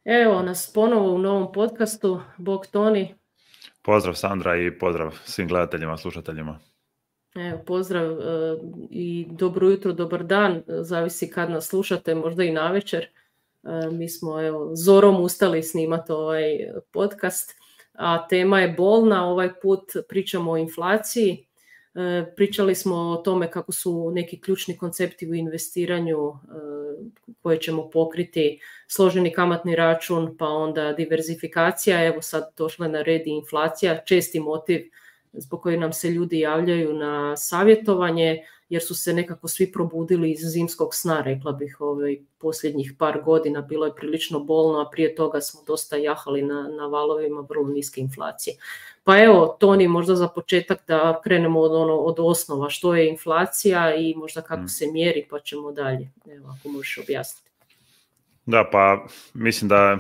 Evo nas ponovo u novom podcastu. Bog Toni. Pozdrav Sandra i pozdrav svim gledateljima, slušateljima. Evo, pozdrav i dobro jutro, dobar dan, zavisi kad nas slušate, možda i navečer. Mi smo zorom ustali snimati ovaj podcast, a tema je bolna. Ovaj put pričamo o inflaciji. Pričali smo o tome kako su neki ključni koncepti u investiranju koje ćemo pokriti, složeni kamatni račun, pa onda diverzifikacija. Evo sad došla na red i inflacija, česti motiv zbog kojih nam se ljudi javljaju na savjetovanje, jer su se nekako svi probudili iz zimskog sna, rekla bih, posljednjih par godina. Bilo je prilično bolno, a prije toga smo dosta jahali na valovima vrlo niske inflacije. Pa evo, Toni, možda za početak da krenemo od osnova, što je inflacija i možda kako se mjeri, pa ćemo dalje. Evo, ako možeš objasniti. Da, pa mislim da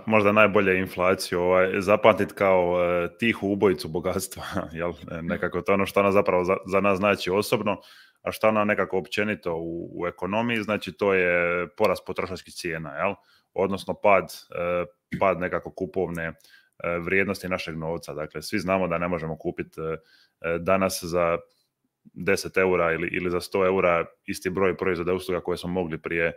možda najbolje inflaciju zapamtiti kao tihu ubojicu bogatstva, jel? Nekako to ono što ona zapravo za nas znači osobno, a što ona nekako općenito u ekonomiji, znači to je porast potrošačkih cijena, jel? Odnosno pad nekako kupovne vrijednosti našeg novca. Dakle, svi znamo da ne možemo kupiti danas za 10 eura ili za 100 eura isti broj proizvoda i usluga koje smo mogli prije,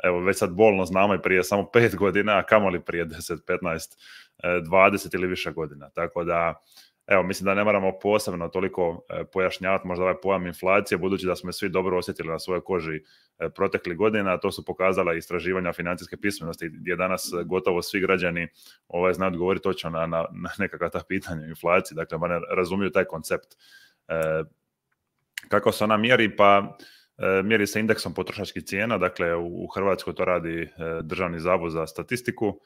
evo već sad bolno znamo i prije samo 5 godina, a kamoli prije 10, 15, 20 ili više godina. Tako da, evo, mislim da ne moramo posebno toliko pojašnjavati možda ovaj pojam inflacije, budući da smo svi dobro osjetili na svojoj koži proteklih godina. To su pokazala istraživanja financijske pismenosti, gdje danas gotovo svi građani znaju odgovoriti točno na nekakva ta pitanja inflacije, dakle, ne razumiju taj koncept. Kako se ona mjeri? Pa mjeri se indeksom potrošačkih cijena, dakle u Hrvatskoj to radi Državni zavod za statistiku.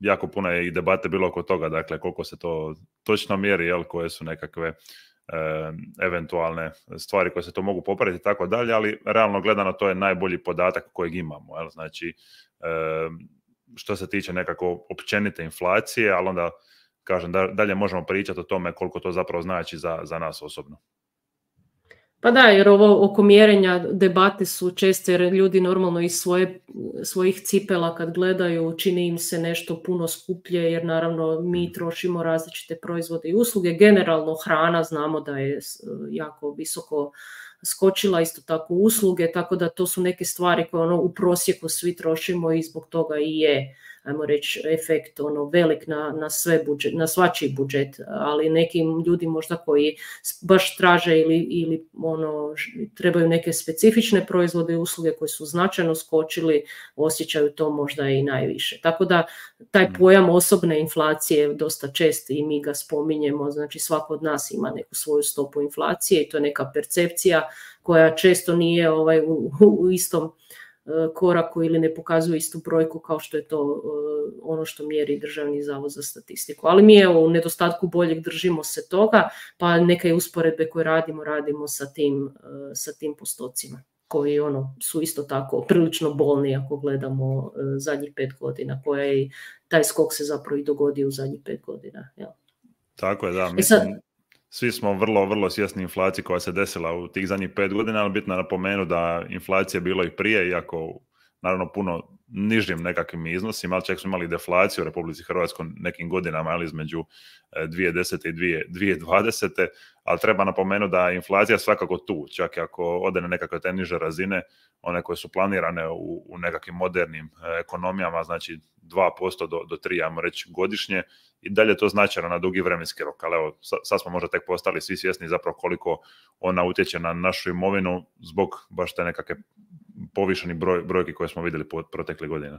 Jako puno je i debate bilo oko toga, dakle koliko se to točno mjeri, jel, koje su nekakve eventualne stvari koje se to mogu popraviti i tako dalje, ali realno gledano to je najbolji podatak kojeg imamo, jel? Znači što se tiče nekako općenite inflacije, ali onda kažem dalje možemo pričati o tome koliko to zapravo znači za nas osobno. Pa da, jer ovo oko mjerenja debate su česte, jer ljudi normalno iz svojih cipela kad gledaju čini im se nešto puno skuplje, jer naravno mi trošimo različite proizvode i usluge. Generalno hrana znamo da je jako visoko skočila, isto tako usluge, tako da to su neke stvari koje u prosjeku svi trošimo i zbog toga i je, ajmo reći, efekt velik na svačiji budžet, ali nekim ljudi možda koji baš traže ili trebaju neke specifične proizvode i usluge koji su značajno skočili, osjećaju to možda i najviše. Tako da taj pojam osobne inflacije je dosta čest i mi ga spominjemo, znači svako od nas ima neku svoju stopu inflacije i to je neka percepcija koja često nije u istom koraku ili ne pokazuje istu brojku kao što je to ono što mjeri Državni zavod za statistiku. Ali mi u nedostatku boljeg držimo se toga, pa neke usporedbe koje radimo sa tim postocima koji su isto tako prilično bolni ako gledamo zadnjih 5 godina, koja je taj skok se zapravo i dogodio u zadnjih 5 godina. Ja. Tako je, da, mislim, svi smo vrlo, vrlo svjesni inflacije koja se desila u tih zadnjih 5 godina, ali bitno je napomenuti da inflacija je bilo i prije, iako naravno puno nižim nekakvim iznosima, ali čak smo imali deflaciju u Republici Hrvatskoj nekim godinama, ali između 2010. i 2020. Ali treba napomenuti da je inflacija svakako tu, čak i ako ode na nekakve te niže razine, one koje su planirane u nekakvim modernim ekonomijama, znači 2% do 3%, ajmo reći, godišnje, i dalje to značajno na dugi vremenski rok. Ali evo, sad smo možda tek postali svi svjesni zapravo koliko ona utječe na našu imovinu zbog baš te nekakve povišeni brojki koje smo vidjeli protekle godine.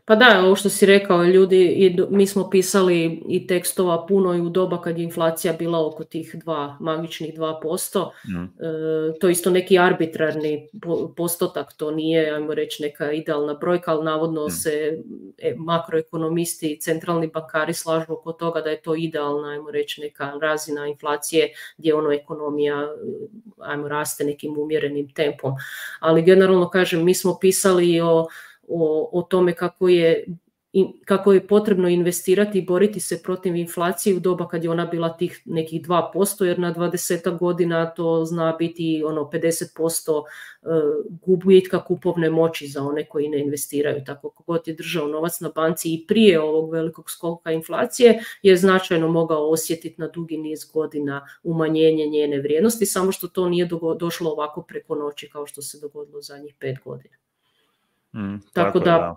Pa da, ovo što si rekao, ljudi, mi smo pisali i tekstova puno i u doba kad je inflacija bila oko tih magičnih 2%. To je isto neki arbitrarni postotak, to nije, ajmo reći, neka idealna brojka, ali navodno se makroekonomisti i centralni bankari slažu oko toga da je to idealna, ajmo reći, neka razina inflacije gdje ekonomija, ajmo, raste nekim umjerenim tempom. Ali generalno kažem, mi smo pisali o tome kako je kako je potrebno investirati i boriti se protiv inflacije u doba kad je ona bila tih nekih 2%, jer na 20 godina to zna biti 50% gubitka kupovne moći za one koji ne investiraju. Tako kogod je držao novac na banci i prije ovog velikog skoka inflacije je značajno mogao osjetiti na dugi niz godina umanjenje njene vrijednosti, samo što to nije došlo ovako preko noći kao što se dogodilo zadnjih 5 godina. Tako da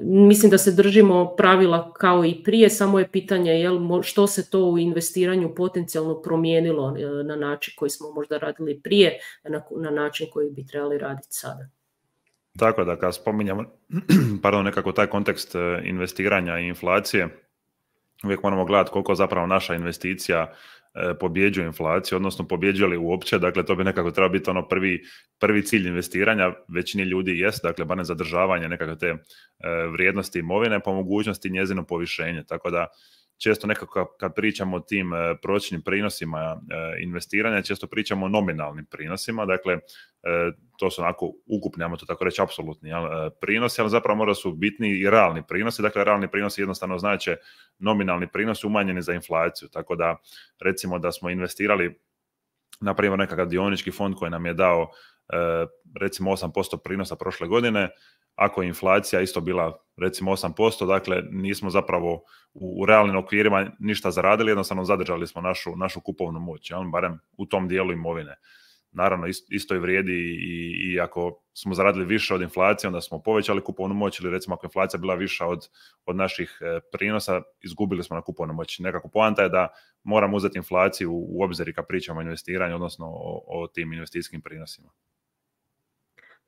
mislim da se držimo pravila kao i prije, samo je pitanje što se to u investiranju potencijalno promijenilo na način koji smo možda radili prije, na način koji bi trebali raditi sada. Tako da kad spominjamo nekako taj kontekst investiranja i inflacije, uvijek moramo gledati koliko zapravo naša investicija pobjeđuje inflaciju, odnosno pobjeđuje li uopće, dakle to bi nekako trebalo biti prvi cilj investiranja, većini ljudi jest, dakle barem zadržavanje nekakve te vrijednosti imovine, po mogućnosti njezino povišenje, tako da često nekako kad pričamo o tim prosječnim prinosima investiranja, često pričamo o nominalnim prinosima, dakle to su onako ukupni, ajmo to tako reći, apsolutni prinosi, ali zapravo možda su bitni i realni prinosi, dakle realni prinosi jednostavno znače nominalni prinos umanjeni za inflaciju, tako da recimo da smo investirali na primjer nekakav dionički fond koji nam je dao recimo 8% prinosa prošle godine, ako je inflacija isto bila recimo 8%, dakle nismo zapravo u realnim okvirima ništa zaradili, jednostavno zadržali smo našu kupovnu moć, barem u tom dijelu imovine. Naravno, isto i vrijedi i ako smo zaradili više od inflacije, onda smo povećali kupovnu moć, ili recimo ako je inflacija bila viša od naših prinosa, izgubili smo na kupovnu moć. Nekako poanta je da moramo uzeti inflaciju u obzir kad pričamo o investiranju, odnosno o tim investicijskim prinosima.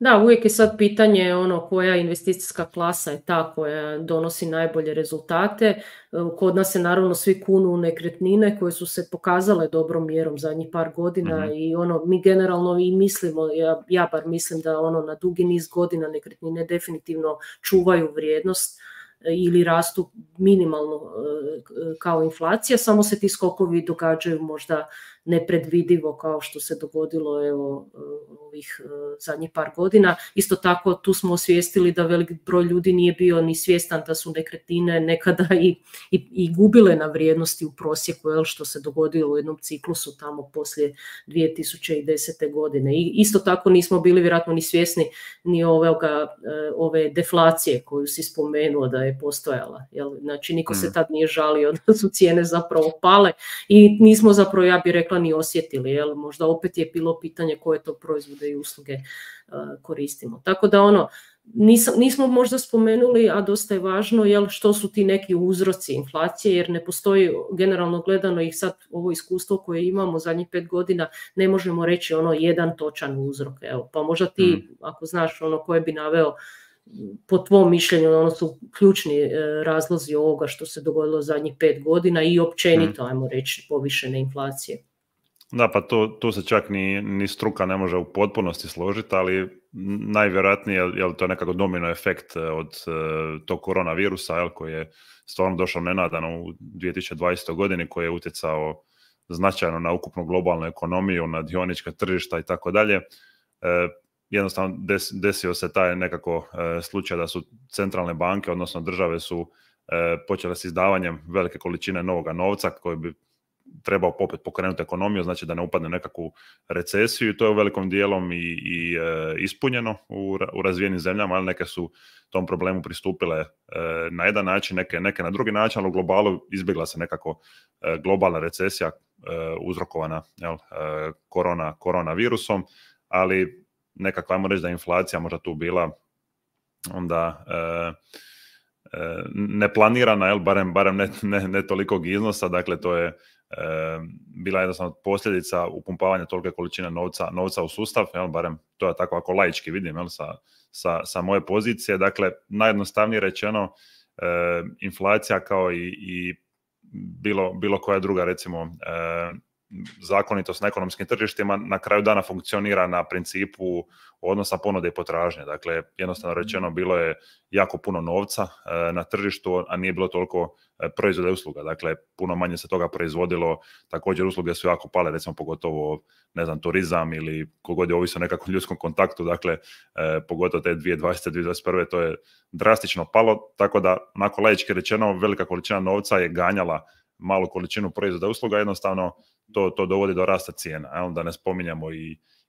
Da, uvijek je sad pitanje koja investicijska klasa je ta koja donosi najbolje rezultate. Kod nas se naravno svi kunu u nekretnine koje su se pokazale dobrom mjerom zadnjih par godina i mi generalno i mislimo, ja bar mislim da na dugi niz godina nekretnine definitivno čuvaju vrijednost ili rastu minimalno kao inflacija, samo se ti skokovi događaju možda nepredvidivo kao što se dogodilo ovih zadnjih par godina. Isto tako tu smo osvijestili da velik broj ljudi nije bio ni svjestan da su nekretnine nekada i gubile na vrijednosti u prosjeku, što se dogodilo u jednom ciklusu tamo poslije 2010. godine. I isto tako nismo bili vjerojatno ni svjesni ni ove deflacije koju si spomenuo da je postojala. Znači niko se tad nije žalio da su cijene zapravo pale i nismo zapravo, ja bih rekla, ni osjetili. Možda opet je bilo pitanje koje to proizvode i usluge koristimo. Tako da nismo možda spomenuli, a dosta je važno, što su ti neki uzroci inflacije, jer ne postoji generalno gledano i sad ovo iskustvo koje imamo zadnjih 5 godina, ne možemo reći jedan točan uzrok. Pa možda ti, ako znaš koje bi naveo po tvom mišljenju, su ključni razlozi ovoga što se dogodilo zadnjih 5 godina i općenito, ajmo reći, povišene inflacije. Da, pa tu se čak ni struka ne može u potpunosti složiti, ali najvjerojatnije je to nekako domino efekt od tog koronavirusa, koji je stvarno došao nenadano u 2020. godini, koji je utjecao značajno na ukupnu globalnu ekonomiju, na dionička tržišta i tako dalje. Jednostavno desio se taj nekako slučaj da su centralne banke, odnosno države su počele s izdavanjem velike količine novoga novca koji bi trebao popet pokrenuti ekonomiju, znači da ne upadne nekakvu recesiju, i to je u velikom dijelom i ispunjeno u razvijenim zemljama, ali neke su tom problemu pristupile na jedan način, neke na drugi način, ali u globalu izbjegla se nekako globalna recesija uzrokovana koronavirusom, ali nekako ajmo reći da je inflacija možda tu bila onda neplanirana, barem ne tolikog iznosa, dakle to je bila jednostavno posljedica upumpavanja tolike količine novca u sustav, barem to je tako ako laički vidim sa moje pozicije. Dakle, najjednostavnije rečeno, inflacija kao i bilo koja druga recimo zakonitost na ekonomskim tržištima na kraju dana funkcionira na principu odnosa ponude i potražnje. Dakle, jednostavno rečeno, bilo je jako puno novca na tržištu, a nije bilo toliko proizvoda i usluga. Dakle, puno manje se toga proizvodilo, također usluge su jako pale, recimo pogotovo, ne znam, turizam ili kogod je ovisio o nekakvom ljudskom kontaktu, dakle, pogotovo te 2020. 2021. to je drastično palo, tako da, onako laički rečeno, velika količina novca je ganjala malu količinu proizvoda i usluga, jednostavno to dovodi do rasta cijena. Da ne spominjamo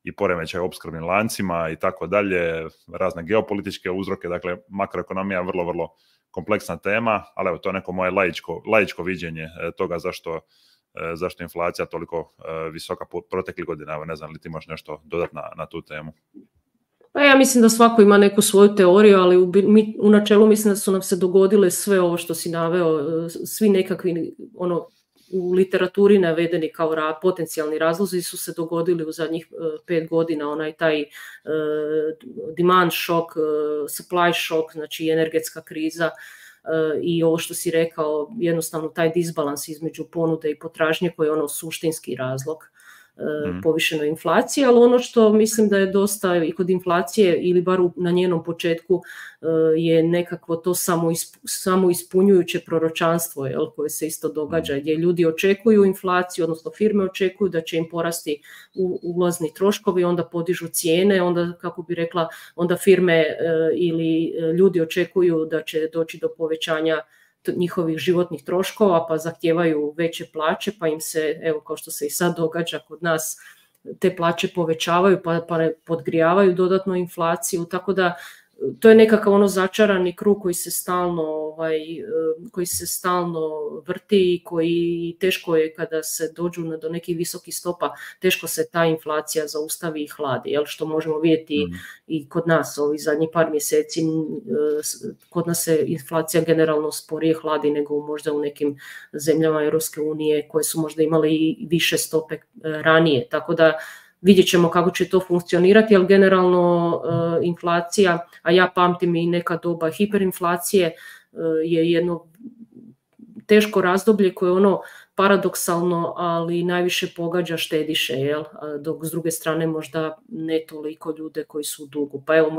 i poremećaj opskrbnim lancima i tako dalje, razne geopolitičke uzroke, dakle makroekonomija je vrlo, vrlo kompleksna tema, ali evo, to je neko moje laičko viđenje toga zašto je inflacija toliko visoka proteklih godina. Evo, ne znam li ti imaš nešto dodati na tu temu? Pa ja mislim da svako ima neku svoju teoriju, ali u načelu mislim da su nam se dogodile sve ovo što si naveo, svi nekakvi u literaturi navedeni kao potencijalni razlozi su se dogodili u zadnjih 5 godina, taj demand šok, supply šok, znači energetska kriza i ovo što si rekao, jednostavno taj disbalans između ponude i potražnje koji je suštinski razlog povišenoj inflaciji, ali ono što mislim da je dosta i kod inflacije ili bar na njenom početku je nekakvo to samo ispunjujuće proročanstvo koje se isto događa, gdje ljudi očekuju inflaciju, odnosno firme očekuju da će im porasti ulazni troškovi, onda podižu cijene, onda, kako bi rekla, onda firme ili ljudi očekuju da će doći do povećanja njihovih životnih troškova, pa zahtijevaju veće plaće, pa im se, evo kao što se i sad događa kod nas, te plaće povećavaju pa podgrijavaju dodatno inflaciju, tako da to je nekakav začarani krug koji se stalno vrti i koji teško je kada se dođu do nekih visokih stopa, teško se ta inflacija zaustavi i hladi, što možemo vidjeti i kod nas ovih zadnjih par mjeseci. Kod nas se inflacija generalno sporije hladi nego možda u nekim zemljama Europske unije koje su možda imale i više stope ranije, tako da vidjet ćemo kako će to funkcionirati, ali generalno inflacija, a ja pamtim i neka doba hiperinflacije, je jedno teško razdoblje koje je paradoksalno, ali najviše pogađa štediše, dok s druge strane možda ne toliko ljude koji su u dugu. Pa evo,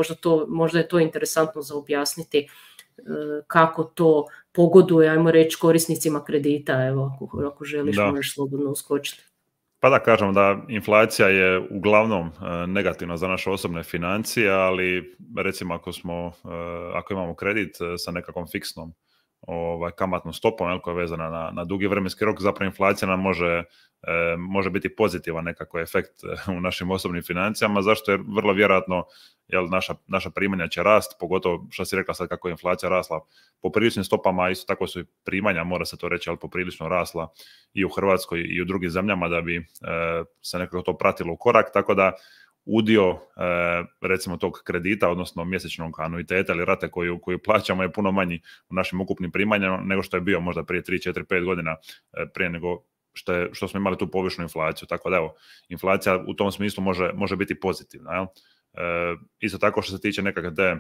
možda je to interesantno za objasniti kako to pogoduje, ajmo reći, korisnicima kredita. Evo, ako želiš, možeš slobodno uskočiti. Pa da, kažem da inflacija je uglavnom negativna za naše osobne financije, ali recimo ako imamo kredit sa nekakvom fiksnom kamatnom stopom koja je vezana na dugi vremenski rok, zapravo inflacija nam može biti pozitivan nekako efekt u našim osobnim financijama, zašto je vrlo vjerojatno naša primanja će rast, pogotovo što si rekla sad kako je inflacija rasla po priličnim stopama, isto tako su i primanja, mora se to reći, ali poprilično rasla i u Hrvatskoj i u drugim zemljama da bi se nekako to pratilo u korak, tako da udio recimo tog kredita, odnosno mjesečnog anuiteta ili rate koju plaćamo je puno manji u našim ukupnim primanjama nego što je bio možda prije 3, 4, 5 godina prije nego što smo imali tu povišnu inflaciju. Tako da evo, inflacija u tom smislu može biti pozitivna. Isto tako što se tiče nekakve te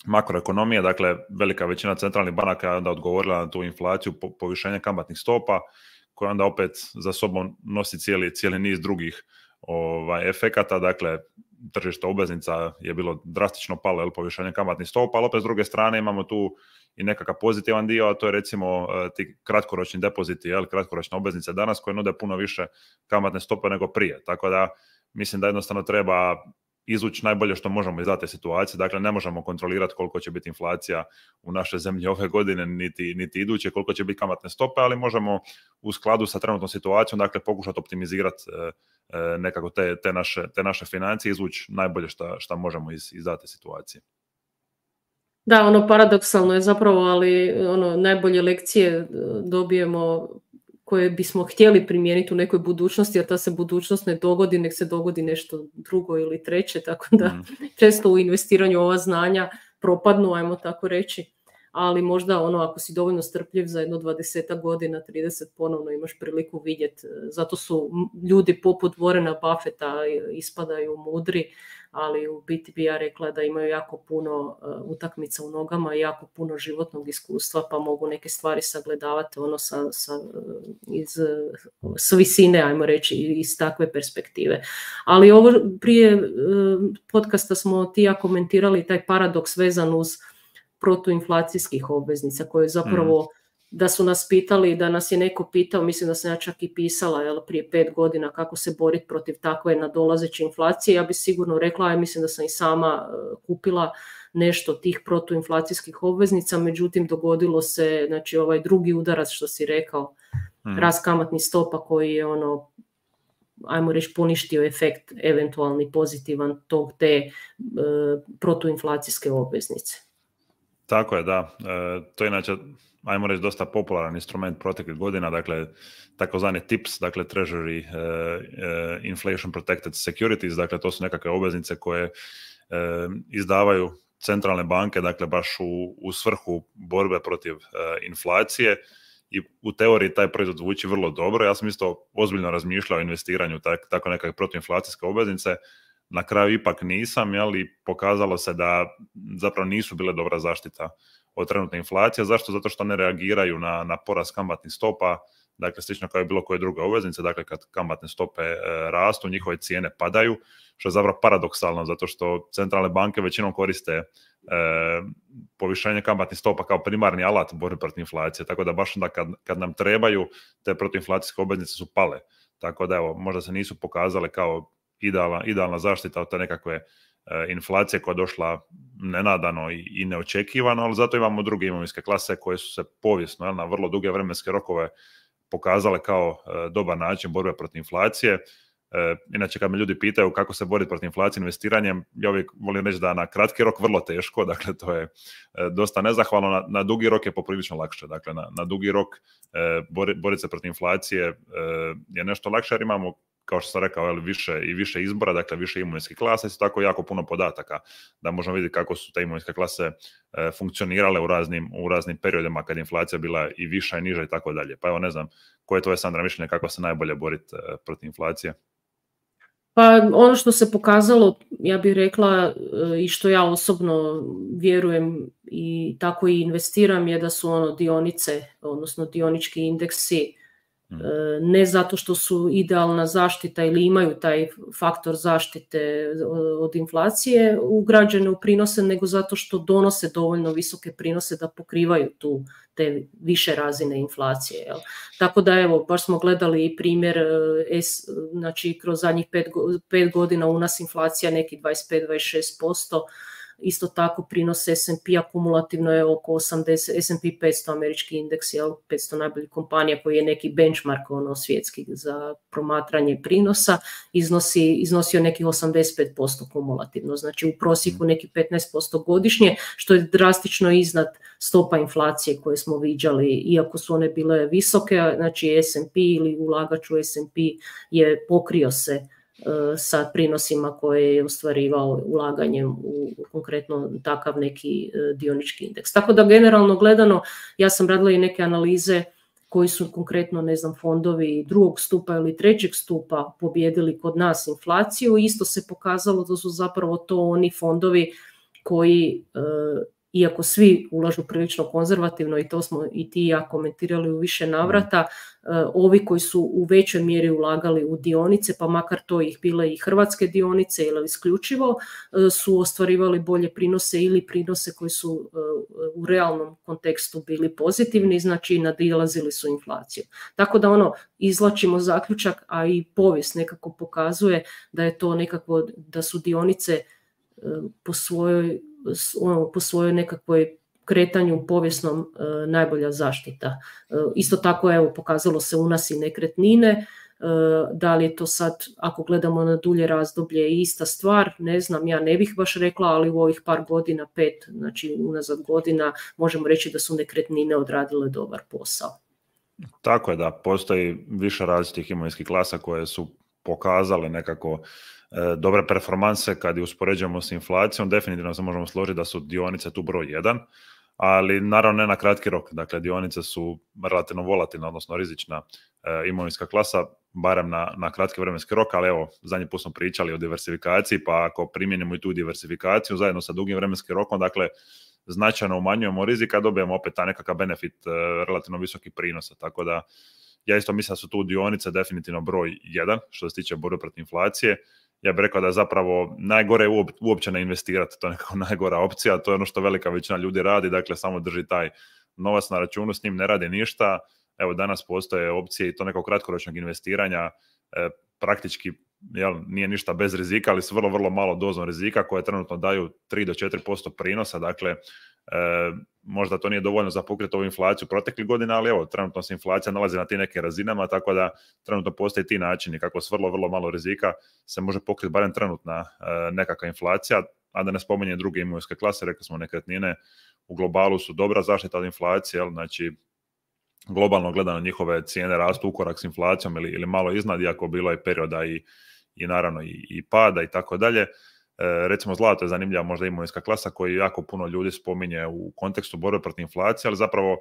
makroekonomije, dakle velika većina centralnih banaka je onda odgovorila na tu inflaciju povišenja kamatnih stopa, koja onda opet za sobom nosi cijeli niz drugih efekata. Dakle, tržište obveznica je bilo drastično palo povišenje kamatnih stopa, ali opet s druge strane imamo tu i nekakav pozitivan dio, a to je recimo ti kratkoročni depoziti, kratkoročne obveznice danas koje nude puno više kamatne stope nego prije. Tako da mislim da jednostavno treba izvući najbolje što možemo iz te situacije. Dakle, ne možemo kontrolirati koliko će biti inflacija u našoj zemlji ove godine, niti iduće, koliko će biti kamatne stope, ali možemo u skladu sa trenutnom situacijom, dakle, pokušati optimizirati nekako te naše financije, izvući najbolje što možemo iz te situacije. Da, paradoksalno je zapravo, ali najbolje lekcije dobijemo koje bismo htjeli primijeniti u nekoj budućnosti, a ta se budućnost ne dogodi, nek se dogodi nešto drugo ili treće, tako da često u investiranju ova znanja propadnu, ajmo tako reći, ali možda ako si dovoljno strpljiv za jedno 20 godina, 30 ponovno imaš priliku vidjeti. Zato su ljudi poput Warrena Buffetta ispadaju mudri, ali u biti bi ja rekla da imaju jako puno utakmica u nogama i jako puno životnog iskustva, pa mogu neke stvari sagledavati ono s visine, ajmo reći, iz takve perspektive. Ali ovo prije podcasta smo ti ja komentirali taj paradoks vezan uz protuinflacijskih obveznica koje zapravo da su nas pitali, da nas je neko pitao, mislim da sam ja čak i pisala prije 5 godina kako se boriti protiv takve nadolazeće inflacije, ja bi sigurno rekla, a mislim da sam i sama kupila nešto tih protuinflacijskih obveznica, međutim dogodilo se, znači ovaj drugi udarac što si rekao, rast kamatnih stopa koji je ajmo reći poništio efekt eventualni pozitivan te protuinflacijske obveznice. Tako je, da. To je inače, ajmo reći, dosta popularan instrument proteklih godina, dakle, takozvani TIPS, dakle Treasury Inflation Protected Securities, dakle to su nekakve obveznice koje izdavaju centralne banke, dakle baš u svrhu borbe protiv inflacije i u teoriji taj proizvod zvuči vrlo dobro. Ja sam isto ozbiljno razmišljao o investiranju tako nekakve protuinflacijske obveznice. Na kraju ipak nisam, i pokazalo se da zapravo nisu bile dobra zaštita od trenutne inflacije. Zašto? Zato što ne reagiraju na porast kamatnih stopa, dakle slično kao i bilo koje druge obveznice, dakle kad kamatne stope rastu, njihove cijene padaju, što je zapravo paradoksalno, zato što centralne banke većinom koriste povišenje kamatnih stopa kao primarni alat borbe protiv inflacije, tako da baš onda kad nam trebaju, te protuinflacijske obveznice su pale. Tako da evo, možda se nisu pokazale kao idealna zaštita od te nekakve inflacije koja je došla nenadano i neočekivano, ali zato imamo druge imovinske klase koje su se povijesno na vrlo duge vremenske rokove pokazale kao dobar način borbe protiv inflacije. Inače, kad me ljudi pitaju kako se boriti protiv inflacije investiranjem, ja uvijek volim reći da na kratki rok vrlo teško, dakle to je dosta nezahvalno, na dugi rok je poprilično lakše. Dakle, na dugi rok boriti se protiv inflacije je nešto lakše jer imamo, kao što sam rekao, više izbora, dakle više imovinskih klasa, isto tako jako puno podataka da možemo vidjeti kako su te imovinske klase funkcionirale u raznim periodima kad je inflacija bila i viša i niža i tako dalje. Pa evo, ne znam, koje je tvoje, Sandra, mišljenje kako se najbolje boriti protiv inflacije? Pa ono što se pokazalo, ja bih rekla, i što ja osobno vjerujem i tako i investiram, je da su dionice, odnosno dionički indeksi, ne zato što su idealna zaštita ili imaju taj faktor zaštite od inflacije ugrađene u prinose, nego zato što donose dovoljno visoke prinose da pokrivaju te više razine inflacije. Jel? Tako da evo, baš smo gledali i primjer, znači kroz zadnjih 5 godina u nas inflacija neki 25-26%, isto tako prinos S&P kumulativno je oko 80, S&P 500 američki indeks, 500 najboljih kompanija koji je neki benchmark svjetski za promatranje prinosa, iznosio nekih 85% kumulativno, znači u prosjeku neki 15% godišnje, što je drastično iznad stopa inflacije koje smo viđali, iako su one bile visoke, znači S&P ili ulagač u S&P je pokrio se sa prinosima koje je ostvarivao ulaganjem u konkretno takav neki dionički indeks. Tako da generalno gledano, ja sam radila i neke analize koji su konkretno, ne znam, fondovi drugog stupa ili trećeg stupa pobijedili kod nas inflaciju. Isto se pokazalo da su zapravo to oni fondovi koji, iako svi ulažu prilično konzervativno, i to smo i ti i ja komentirali u više navrata, ovi koji su u većoj mjeri ulagali u dionice, pa makar to ih bile i hrvatske dionice ili isključivo, su ostvarivali bolje prinose ili prinose koji su u realnom kontekstu bili pozitivni, znači nadilazili su inflaciju. Tako da izvlačimo zaključak, a i povijest nekako pokazuje da je to nekako, da su dionice po svojoj nekakvoj kretanju povijesnom najbolja zaštita. Isto tako, evo, pokazalo se u nas i nekretnine, da li je to sad, ako gledamo na dulje razdoblje, ista stvar, ne znam, ja ne bih baš rekla, ali u ovih par godina, 5, znači unazad godina, možemo reći da su nekretnine odradile dobar posao. Tako je, da, postoji više različitih imovinskih klasa koje su pokazale nekako dobre performanse kad je uspoređujemo s inflacijom. Definitivno se možemo složiti da su dionice tu broj 1, ali naravno ne na kratki rok. Dakle, dionice su relativno volatilna, odnosno rizična imovinska klasa. barem na kratki vremenski rok, ali evo, zadnji put smo pričali o diversifikaciji, pa ako primijenimo i tu diversifikaciju zajedno sa dugim vremenskim rokom, dakle, značajno umanjujemo rizik, a dobijemo opet ta nekakav benefit relativno visokih prinosa, tako da ja isto mislim da su tu dionice definitivno broj 1 što se tiče borbe protiv inflacije. Ja bih rekao da je zapravo najgore uopće ne investirati, to je nekako najgora opcija, to je ono što velika većina ljudi radi, dakle samo drži taj novac na računu, s njim ne radi ništa. Evo danas postoje opcije i to nekog kratkoročnog investiranja, praktički nije ništa bez rizika, ali s vrlo, vrlo malo dozom rizika koje trenutno daju 3 do 4% prinosa, dakle možda to nije dovoljno za pokriti ovu inflaciju proteklih godina, ali evo, trenutno se inflacija nalazi na tim nekim razinama, tako da trenutno postoje ti načini kako s vrlo, vrlo malo rizika se može pokriti barem trenutna nekakva inflacija, a da ne spominje druge imovinske klase, rekli smo nekretnine u globalu su dobra zaštita od inflacije, znači globalno gledano njihove cijene rastu ukorak s inflacijom ili malo iznad, iako bilo je perioda i naravno i pada i tako dalje. Recimo zlato je zanimljiva možda imovinska klasa koju jako puno ljudi spominje u kontekstu borbe protiv inflacije, ali zapravo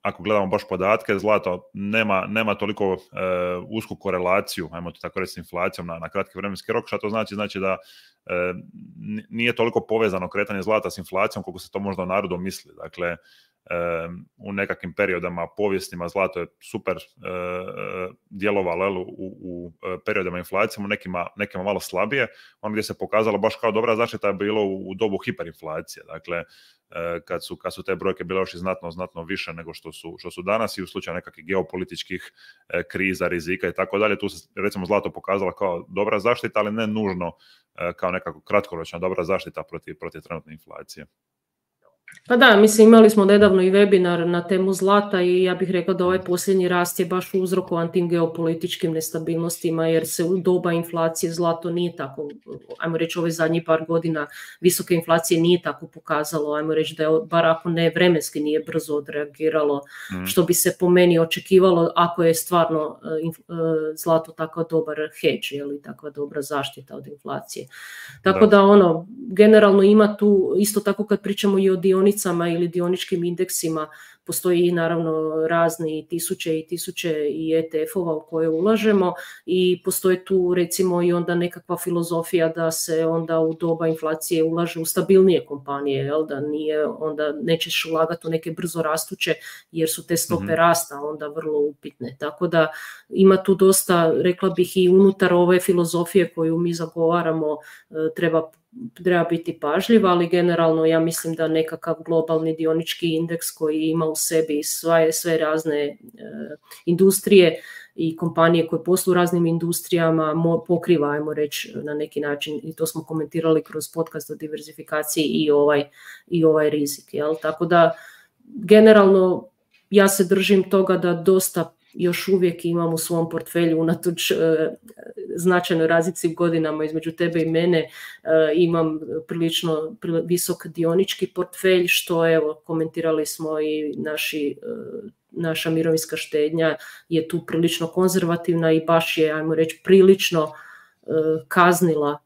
ako gledamo baš podatke, zlato nema toliko usku korelaciju, ajmo to tako reći, s inflacijom na kratki vremenski rok. Što to znači? Znači da nije toliko povezano kretanje zlata s inflacijom koliko se to možda u narodu misli. Dakle, u nekakvim periodama povijesnima zlato je super djelovalo u periodima inflacije, u nekima malo slabije. Ono gdje se pokazalo baš kao dobra zaštita je bilo u dobu hiperinflacije. Dakle, kad su te brojke bile još i znatno više nego što su danas i u slučaju nekakvih geopolitičkih kriza, rizika i tako dalje. Tu se recimo zlato pokazalo kao dobra zaštita, ali ne nužno kao nekako kratkoročna dobra zaštita protiv trenutne inflacije. Pa da, mislim imali smo nedavno i webinar na temu zlata i ja bih rekla da ovaj posljednji rast je baš uzrokovan tim geopolitičkim nestabilnostima jer se u doba inflacije zlato nije tako, ajmo reći ove zadnjih par godina visoke inflacije nije tako pokazalo, ajmo reći da je bar ako ne vremenski nije brzo odreagiralo, što bi se po meni očekivalo ako je stvarno zlato tako dobar hedge ili takva dobra zaštita od inflacije. Tako da generalno ima tu, isto tako kad pričamo i o dionicama ili dioničkim indeksima, postoji naravno razni tisuće i tisuće i ETF-ova u koje ulažemo i postoji tu recimo i onda nekakva filozofija da se onda u doba inflacije ulaže u stabilnije kompanije, jel? Da nije, onda nećeš ulagati u neke brzo rastuće jer su te stope rasta onda vrlo upitne. Tako da ima tu dosta, rekla bih i unutar ove filozofije koju mi zagovaramo treba biti pažljiv, ali generalno ja mislim da nekakav globalni dionički indeks koji ima u sebi sve razne industrije i kompanije koje posluju u raznim industrijama pokriva, ajmo reći, na neki način, i to smo komentirali kroz podcast o diversifikaciji i ovaj rizik. Jel? Tako da generalno ja se držim toga da dosta još uvijek imam u svom portfelju unatoč značajnoj razlici u godinama između tebe i mene, imam prilično visok dionički portfelj, što evo komentirali smo i naša mirovinska štednja je tu prilično konzervativna i baš je, ajmo reći, prilično kaznila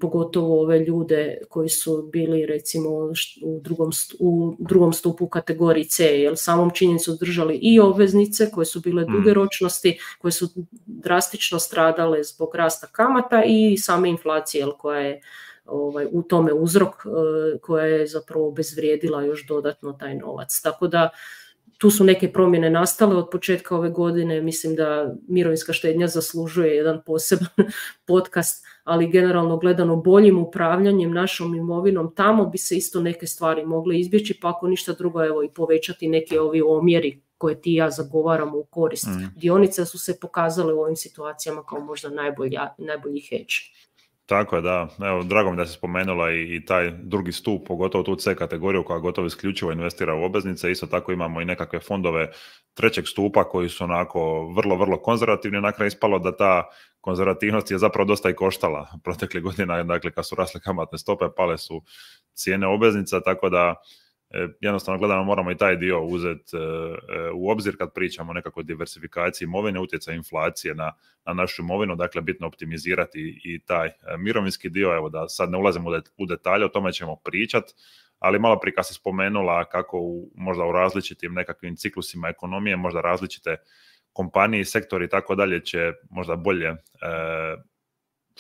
pogotovo ove ljude koji su bili recimo u drugom stupu u kategoriji C, jer samom činjenicu držali i obveznice koje su bile duge ročnosti, koje su drastično stradale zbog rasta kamata i same inflacije koja je u tome uzrok, koja je zapravo obezvrijedila još dodatno taj novac. Tako da tu su neke promjene nastale od početka ove godine, mislim da mirovinska štednja zaslužuje jedan poseban podcast, ali generalno gledano boljim upravljanjem našom imovinom, tamo bi se isto neke stvari mogle izbjeći, pa ako ništa drugo, evo i povećati neke ovi omjeri koje ti i ja zagovaramo u korist. Dionice su se pokazale u ovim situacijama kao možda najbolji hedge. Tako je, da. Evo, drago mi da se spomenula i taj drugi stup, pogotovo tu C kategoriju koja gotovo isključivo investira u obveznice. Isto tako imamo i nekakve fondove trećeg stupa koji su onako vrlo, vrlo konzervativni. Na kraju ispalo da ta konzervativnost je zapravo dosta i koštala proteklih godina. Dakle, kad su rasle kamatne stope, pale su cijene obveznica, tako da jednostavno gledano moramo i taj dio uzeti u obzir kad pričamo o nekakvoj diversifikaciji imovine, utjecaj inflacije na našu imovinu, dakle bitno optimizirati i taj mirovinski dio. Evo da sad ne ulazimo u detalje, o tome ćemo pričati, ali malo prije kad se spomenula kako možda u različitim nekakvim ciklusima ekonomije možda različite kompanije, sektori i tako dalje će možda bolje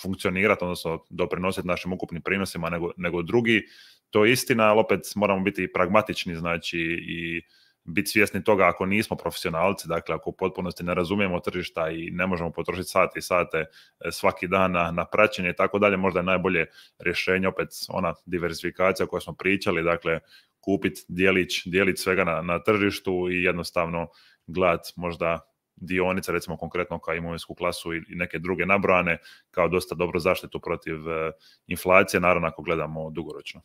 funkcionirati, odnosno doprinositi našim ukupnim prinosima nego drugi. To je istina, ali opet moramo biti pragmatični, znači i biti svjesni toga ako nismo profesionalci, dakle ako u potpunosti ne razumijemo tržišta i ne možemo potrošiti sate i sate svaki dan na praćenje i tako dalje, možda je najbolje rješenje opet ona diversifikacija o kojoj smo pričali, dakle kupiti dijelić svega na tržištu i jednostavno gledati možda dionice, recimo konkretno kao imovinsku klasu i neke druge nabrojane, kao dosta dobro zaštitu protiv inflacije, naravno ako gledamo dugoročno.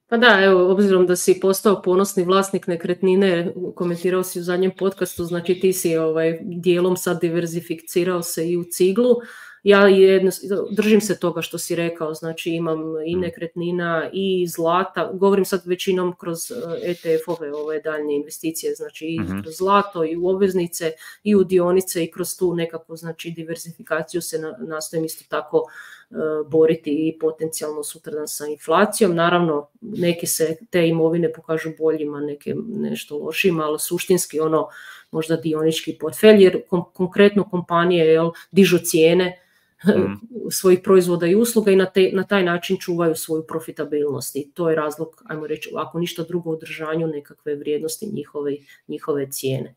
Pa da, evo, obzirom da si postao ponosni vlasnik nekretnine, komentirao si u zadnjem podcastu, znači ti si dijelom sad diverzificirao se i u ciglu. Ja držim se toga što si rekao, znači imam i nekretnina i zlata, govorim sad većinom kroz ETF-ove ove daljnje investicije, znači i kroz zlato i u obveznice i u dionice i kroz tu nekakvu znači diversifikaciju se nastojim isto tako boriti i potencijalno sutradan sa inflacijom. Naravno, neki se te imovine pokažu boljima, neke nešto lošima, ali suštinski možda dionički portfelj, jer konkretno kompanije dižu cijene svojih proizvoda i usluga i na taj način čuvaju svoju profitabilnost i to je razlog, ajmo reći, ako ništa drugo, održanju nekakve vrijednosti njihove cijene.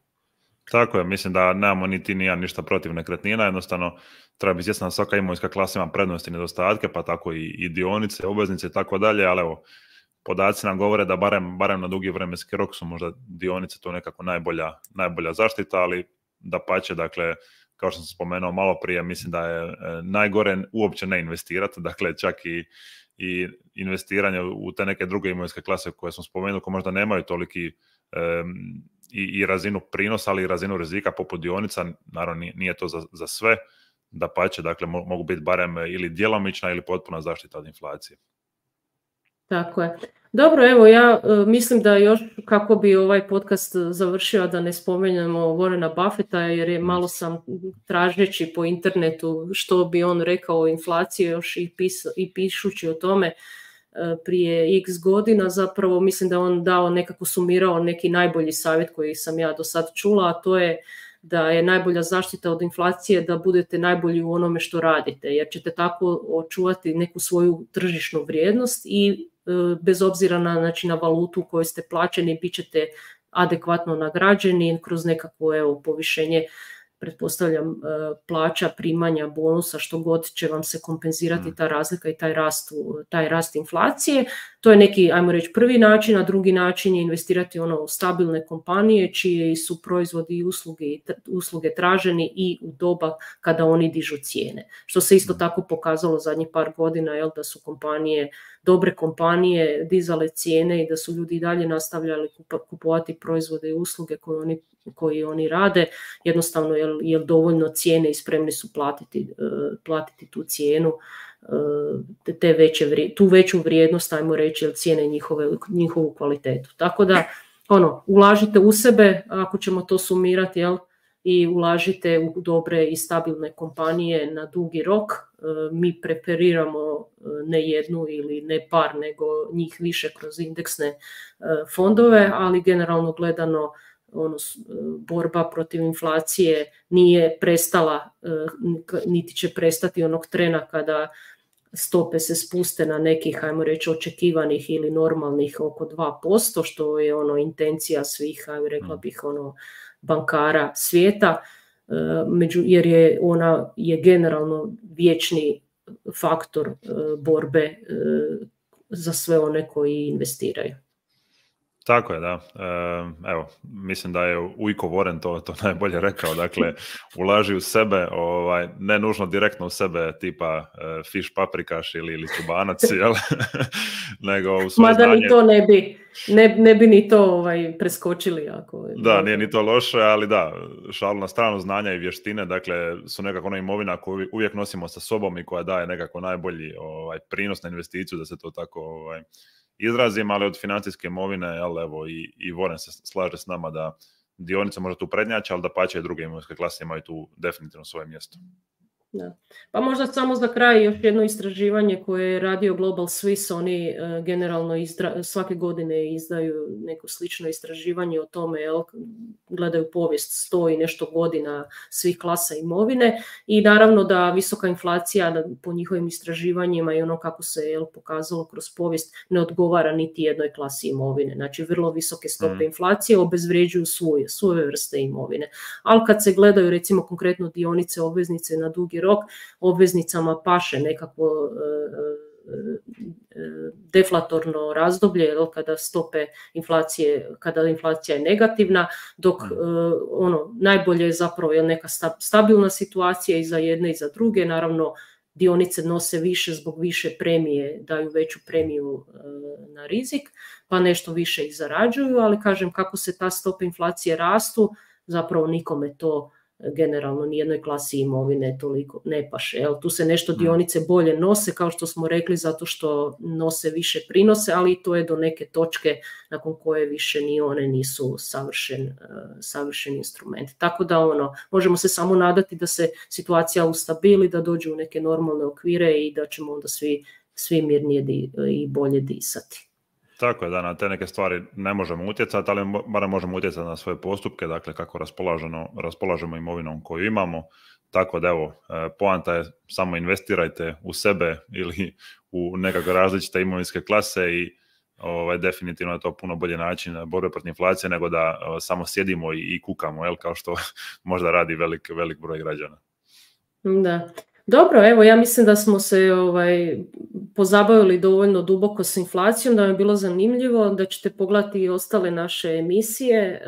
Tako je, mislim da nemamo niti ništa protiv nekretnina, jednostavno treba biti svjesna da svaka imovinska klasa ima prednosti i nedostatke, pa tako i dionice, obveznice i tako dalje, ali evo, podaci nam govore da barem na dugi vremenski rok su možda dionice to nekako najbolja zaštita, ali dapače, dakle, kao što sam spomenuo malo prije, mislim da je najgore uopće ne investirati, dakle čak i investiranje u te neke druge imovinske klase koje smo spomenuli, koje možda nemaju toliki i razinu prinosa, ali i razinu rizika poput dionica, naravno nije to za sve, dapače, dakle mogu biti barem ili djelomična ili potpuna zaštita od inflacije. Tako je. Dobro, evo ja mislim da još kako bi ovaj podcast završio, da ne spomenemo Warrena Buffetta, jer je malo sam tražeći po internetu što bi on rekao o inflaciji još i pišući o tome prije x godina, zapravo mislim da on sumirao neki najbolji savjet koji sam ja do sad čula, a to je da je najbolja zaštita od inflacije da budete najbolji u onome što radite, jer ćete tako očuvati neku svoju tržišnu vrijednost i bez obzira na valutu u kojoj ste plaćeni, bit ćete adekvatno nagrađeni kroz nekakvo povišenje, pretpostavljam, plaća, primanja, bonusa, što god će vam se kompenzirati ta razlika i taj rast inflacije. To je neki, ajmo reći, prvi način, a drugi način je investirati u stabilne kompanije čiji su proizvodi i usluge traženi i u doba kada oni dižu cijene. Što se isto tako pokazalo zadnjih par godina, da su dobre kompanije dizale cijene i da su ljudi i dalje nastavljali kupovati proizvode i usluge koji oni rade, jednostavno jer dovoljno cijene i spremni su platiti tu cijenu, tu veću vrijednost, ajmo reći, jer cijene njihovu kvalitetu. Tako da, ulažite u sebe, ako ćemo to sumirati, i ulažite u dobre i stabilne kompanije na dugi rok. Mi preferiramo ne jednu ili ne par, nego njih više kroz indeksne fondove, ali generalno gledano borba protiv inflacije nije prestala, niti će prestati onog trena kada stope se spuste na nekih, ajmo reći, očekivanih ili normalnih oko 2%, što je intencija svih, rekla bih, bankara svijeta, jer ona je generalno vječni faktor borbe za sve one koji investiraju. Tako je, da. Evo, mislim da je Ujko Warren to najbolje rekao. Dakle, ulaži u sebe, ne nužno direktno u sebe, tipa fiš paprikaš ili čubanac, jel? Nego u svoje znanje. Mada ni to ne bi ni to preskočili. Da, nije ni to loše, ali da, šalu na stranu, znanja i vještine, dakle, su nekako ona imovina koju uvijek nosimo sa sobom i koja daje nekako najbolji prinos na investiciju, da se to tako izrazim, ali od financijske imovine, evo, i Warren se slaže s nama da dionice možda tu prednjače, ali da pače i druge imovinske klase imaju tu definitivno svoje mjesto. Da. Pa možda samo za kraj još jedno istraživanje koje je radio Global Swiss, oni generalno svake godine izdaju neko slično istraživanje o tome, gledaju povijest 100 i nešto godina svih klasa imovine i naravno da visoka inflacija po njihovim istraživanjima i ono kako se pokazalo kroz povijest ne odgovara niti jednoj klasi imovine. Znači vrlo visoke stope inflacije obezvređuju svoje vrste imovine. Ali kad se gledaju recimo konkretno dionice, obveznice na dugi rok, obveznicama paše nekako deflatorno razdoblje kada stope inflacije, kada inflacija je negativna, dok najbolje je zapravo neka stabilna situacija i za jedne i za druge. Naravno, dionice nose više zbog više premije, daju veću premiju na rizik, pa nešto više i zarađuju, ali kažem kako se ta stope inflacije rastu, zapravo nikome to generalno nijednoj klasi imovine toliko ne paše. Tu se nešto dionice bolje nose, kao što smo rekli, zato što nose više prinose, ali to je do neke točke nakon koje više ni one nisu savršen instrument. Tako da možemo se samo nadati da se situacija ustabili, da dođe u neke normalne okvire i da ćemo onda svi mirnije i bolje disati. Tako je, da na te neke stvari ne možemo utjecati, ali barem možemo utjecati na svoje postupke, dakle kako raspolažemo imovinom koju imamo. Tako da evo, poanta je samo investirajte u sebe ili u nekakve različite imovinske klase i definitivno je to puno bolji način borbe protiv inflacije nego da samo sjedimo i kukamo, kao što možda radi velik broj građana. Da. Dobro, evo ja mislim da smo se pozabavili dovoljno duboko s inflacijom, da vam je bilo zanimljivo, da ćete pogledati i ostale naše emisije,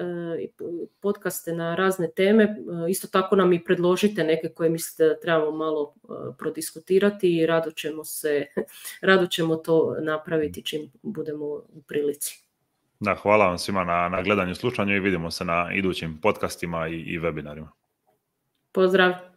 podcaste na razne teme. Isto tako nam i predložite neke koje mislite da trebamo malo prodiskutirati i rado ćemo to napraviti čim budemo u prilici. Da, hvala vam svima na gledanju i slušanju i vidimo se na idućim podcastima i webinarima. Pozdrav!